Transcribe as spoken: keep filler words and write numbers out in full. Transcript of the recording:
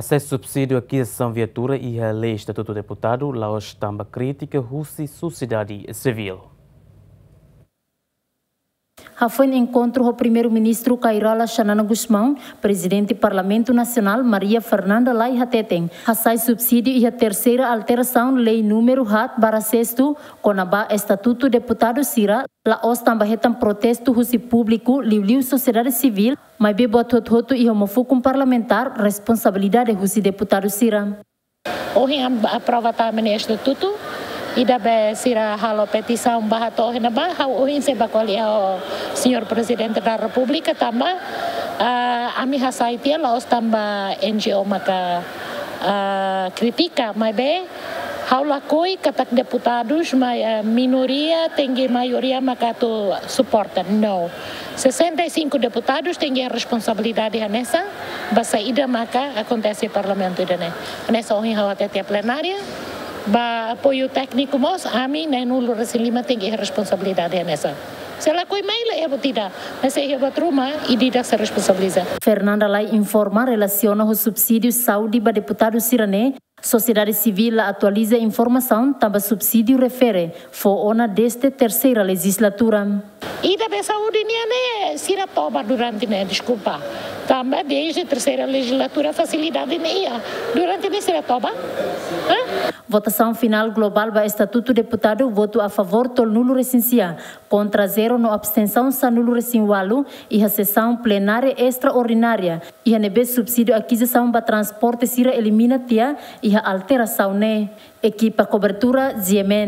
Hasai subsídiu akizisaun viatura iha lei estatutu deputadu la'ós tanba krítika husi sosiedade sivíl. Hafoin enkontru ho Primeiru-Ministru Kay Rala Xanana Gusmão, Prezidente Parlamentu Nasionál Maria Fernanda Lay hateten, hasai subsídiu iha terseira alterasaun lei númeru haat barra sestu, kona-ba estatutu deputadu sira, la'ós tanba hetan protestu husi públiku, liuliu sosiedade sivíl, maibé buat hotu-hotu iha uma fukun parlamentár responsabilidade husi deputadu sira. Ohin am-, aprova tama nia estatutu, ida be sira halo petisaun ba hato'o iha ne'ebá, ha'u ohin sei ba ko'alia ho Señór Prezidente da Repúblika tanba, ah, ami hasai tiha la'ós tanba N G O maka, ah, krítika, maibé ha'u lakohi katak deputadus mai, ah, minoria tenke maioria maka atu suporta. No. Sesenta e cinco deputadus tenke responsabilidade hanesan, ba saida maka akontese Parlamentu ida-ne'e. Hanesan ohin ha'u hatete iha plenária, ba apoiu tékniku mós, ami na'in-nulu-resin-lima tenke responsabilidade hanesan. Se lakohi mai la iha buat ida, mas se iha buat ruma, ida-idak sei responsabiliza. Fernanda Lay informa relasiona ho subsídiu saúde ba deputadu sira-ne'e, sosiedade sivíl la atualiza informasaun tanba subsídiu refere fó ona dezde terseira lejizlatura. Ida be saúde nian ne'e sira toba durante ne'e, deskulpa. Tanba dezde terseira lejizlatura fasilidade ne'e iha. Durante ne'e sira toba? Hã? Votasaun finál globál ba estatutu deputadu, votu a favór tolunulu-resin-sia, kontra zero no abstensaun sanulu-resin-ualu, iha sesaun plenária estraordinária, iha ne'ebé subsídiu akizisaun ba transporte sira elimina tiha, iha alterasaun ne'e. Ekipa kobertura, G M N.